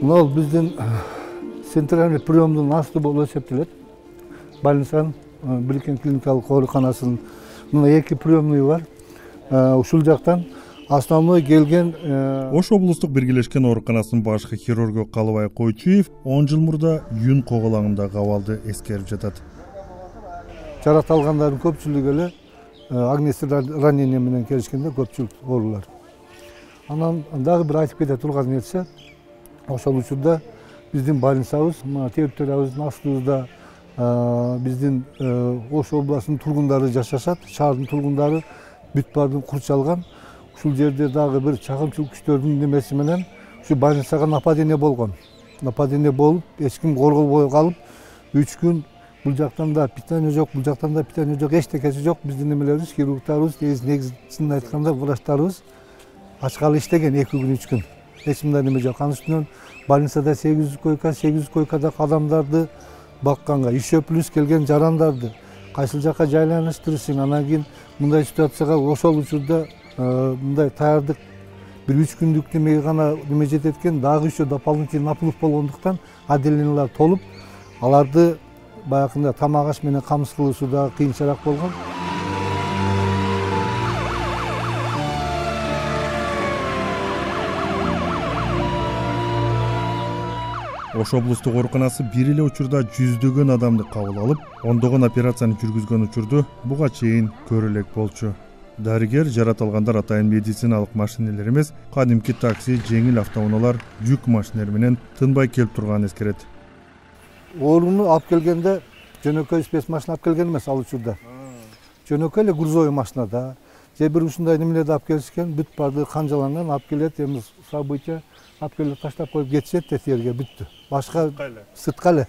Мына биздин центральный приемдун асты болуп эсептелет. Больницанын Билкен клиникалык ооруканасынын мына 2 приемный бар. Ушул жактан основной келген Ош облустук биргелешкен ооруканасынын башкы хирургу Калыбай Койчуев 10 жыл мурда Юн коголаңындагы абалды эскерип жатат. Жарат алгандардын көпчүлүгү эле огнестрельный ранение менен келишкенде көпчүлүк оорулар. Анан дагы бир айтып кете турган нерсе, ошол учурда биздин больницабыз, территориябыздын астыбызда биздин Ош областынын тургундары жашашат, шаардын тургундары бүт баардыгы курчалган. Ушул жерде дагы бир чагымчылык күчтөрдүн немеси менен ушу больницага нападение болгон. Нападение болуп, эч ким корголбой калып, 3 күн бул жактан да питание жок, бул жактан да питание жок, эчтекеси жок. Биздин немелерибиз, хирургтарыбыз, негизин айтканда врачтарыбыз ачкалы иштеген 2 күн, 3 күн. Эч мындай неме жок. Анын үстүнөн больницада 800 койкадагы адамдарды бакканга, ишөө плюс келген жарандарды кайсыл жакка жайланыштырышың, анан кийин мындай ситуацияга ошол учурда мындай таярдык бир 3 күндүк немеге гана неме жетет экен, дагы ишөө дополнительный наплыв болгондуктан отделениялар толуп, аларды баягында тамак аш менен камсыз кылышуу дагы кыйынчараак болгон. Ош облустук ооруканасы бир эле учурда жүздөгөн адамды кабыл алып, ондогон операцияны жүргүзгөн учурду буга чейин көрө элек болчу. Дарыгер жарат алгандар атайын медициналык машинелер эмес, кадимки такси, жеңил автоунаалар, жүк машинелери менен тынбай келип турганын эскерет. Ооруну алып келгенде жөнөкөй спецмашина алып келген эмес ал учурда. Жөнөкөй эле грузовой машинада, же бир ушундай немелерди алып келишкен, бүт баардыгы канжаланган, алып келет, эми события алып келип таштап коюп кетишет да жерге бүттү. Башка сыртка эле.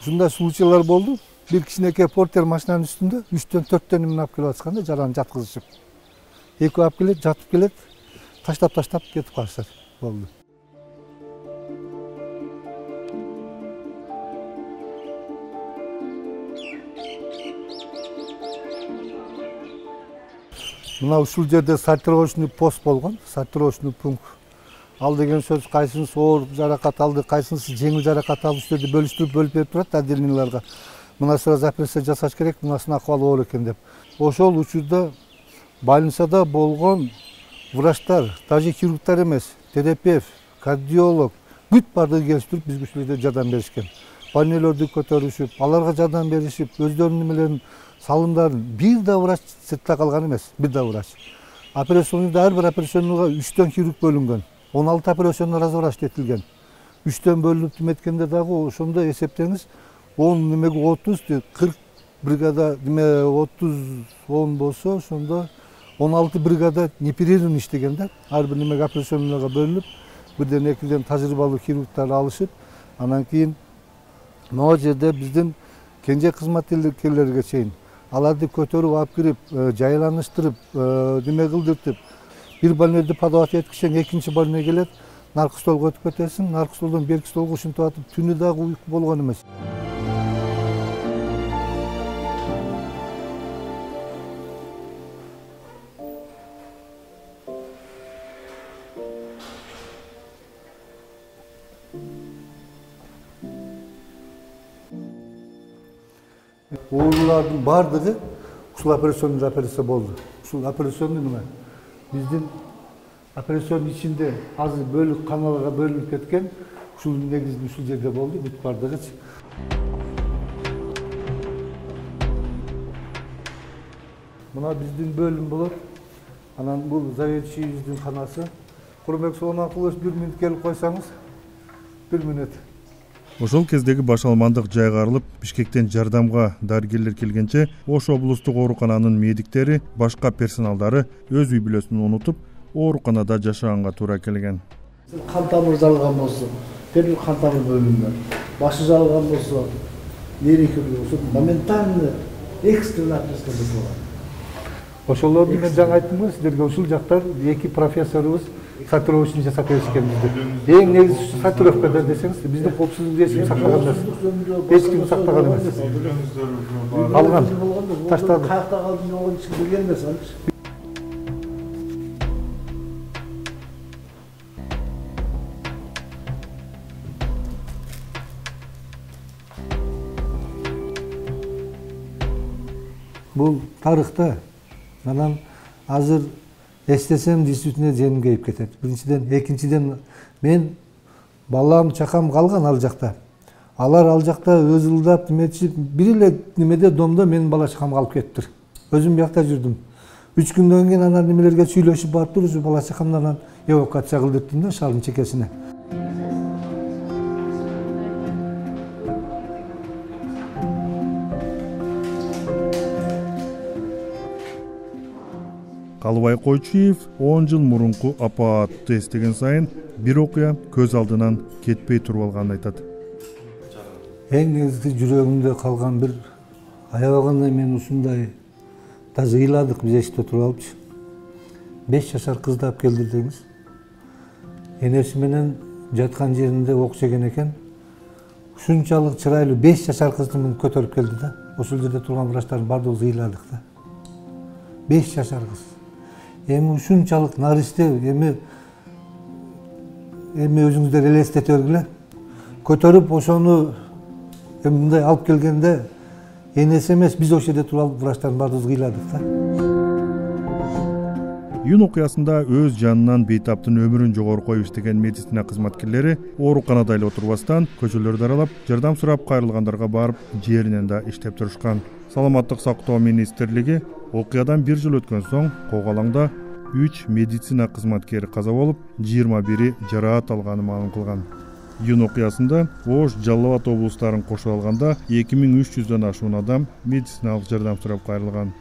Ушундай случайлар болду. Бир кичинекей портер машинанын үстүндө 3-төн 4төн неме алып келип атканда жараны жаткызышып. Экөө алып келет, жатып келет, таштап кетип калышат. Болду. Мына ушул жерде сортировочный пост болгон, сортировочный пункт. Ал деген сөз кайсынысы оор жаракат алды, кайсынысы жеңил жаракат алды, үстөдө бөлүп берип турат отделенияларга. Мына сразу операция жасаш керек, мынасынын акыбалы оор экен деп. Ошол учурда больницада болгон врачтар, даже хирургтар эмес, терапевт, кардиолог бүт баардыгы келиштирип бизге ушул жерде жардам беришкен. Больнелерди көтөрүшүп, аларга жардам беришип, өздөрүнүн немелерин салымдарын бир да врач сыртта калган эмес, бир да врач. Операционныйда ар бир операционныйга 3төн хирург бөлүнгөн. 16 операционный разврач этилген. 3төн бөлүнүп эткенде дагы ошондо эсептеңиз 10 немеге 30, 40 бригада неме 30 10 болсо, ошондо 16 бригада непрерывно иштеген да. Ар бир немеге операционныйга бөлүнүп, бирден экиден тажрыйбалуу хирургтар алышып, анан кийин могу жерде биздин кенже кызматкерлерге чейин аларды көтөрүп алып кирип, жайланыштырып, неме кылдыртып, бир больнойду подавать эткичен экинчи больной келет, наркы столго өтүп кетесиң, наркы столдон берки столго ушинтип атып, түнү дагы уйку болгон эмес. Оорулардын баардыгы ушул операционный операция болду. Ушул операционный неме? Биздин операционный ичинде азыр бөлүк каналга бөлүнүп кеткен, ушул негизинен ушул жерде болду, бүт баардыгы. Мына биздин бөлүм болот. Анан бул заведующийбиздин канасы. Курмек Сулайманкулович, 1 мүнөт келип койсоңуз. 1 мүнөт. Ошол кездеги баш алмандык жайгарылып, Бишкектен жардамга дарыгерлер келгенче, Ош облустук оорукананын медиктери, башка персоналдары өз үй бүлөсүн унутуп, ооруканада жашаганга туура келген. Кан тамыр жалган болсо, бир кан тамыр бөлүнгөн. Башы жалган болсо, нервный болсо, моментально экстренный операция жасалган. Ошолорду мен жаңы айттым го сиздерге, ушул жактар эки профессорубуз сортировочный жасап беришкен бизди. Эң негизгisi сортировкада десеңиз, биздин коопсуздук эрежесин сактаган эмес. Эч ким сактаган эмес. Алган, таштады. Каякта калды болгон эч ким билген эмес анчы. Бул тарыхта анан азыр эстесем действительно женим кейип кетет. Биринчиден, экинчиден мен балам, чакам калган ал жакта. Алар ал жакта өз ылдап неметишип, бир эле немеде домдо менин бала чакам калып кетиптир. Өзүм биякта жүрдүм. 3 күндөн кийин анан немелерге сүйлөшүп барыптыр, ушу бала чакамды анан эвакуация кылдырттым да шаардын чекесине. Калыбай Койчуев 10 жыл мурунку апаатты эстеген сайын бир окуя көз алдынан кетпей туруп алганын айтат. Эң негизги жүрөгүмдө калган бир аябагандай мен ушундай даже ыйладык биз эшикте туруп алыпчы. 5 жашар кызды алып келди деңиз. Энеси менен жаткан жеринде ок жеген экен. Ушунчалык чырайлуу 5 жашар кызды мен көтөрүп келди да. Ошол жерде турган врачтардын бардыгыбыз ыйладык да. 5 жашар кыз. Эми ушунчалык наристе, эми өзүңүздөр элестете бергиле. Көтөрүп ошону мындай алып келгенде энеси эмес, биз ошол жерде туруп врачтардын бардыгыбыз ыйладык да. Июнь окуясында өз жанынан бейтаптын өмүрүн жогору коюп иштеген медицина кызматкерлери ооруканада эле отурбастан көчөлөрдү аралап, жардам сурап кайрылгандарга барып, жеринен да иштеп турушкан. Саламаттык сактоо министрлиги окуядан 1 жыл өткөн соң Кок Алаңда 3 медицина кызматкери каза болуп, 21 жараат алганын маалым кылган. Июнь окуясында Ош, Жалал Абад облустарын кошо алганда 2300дөн ашуун адам медициналык жардам сурап кайрылган.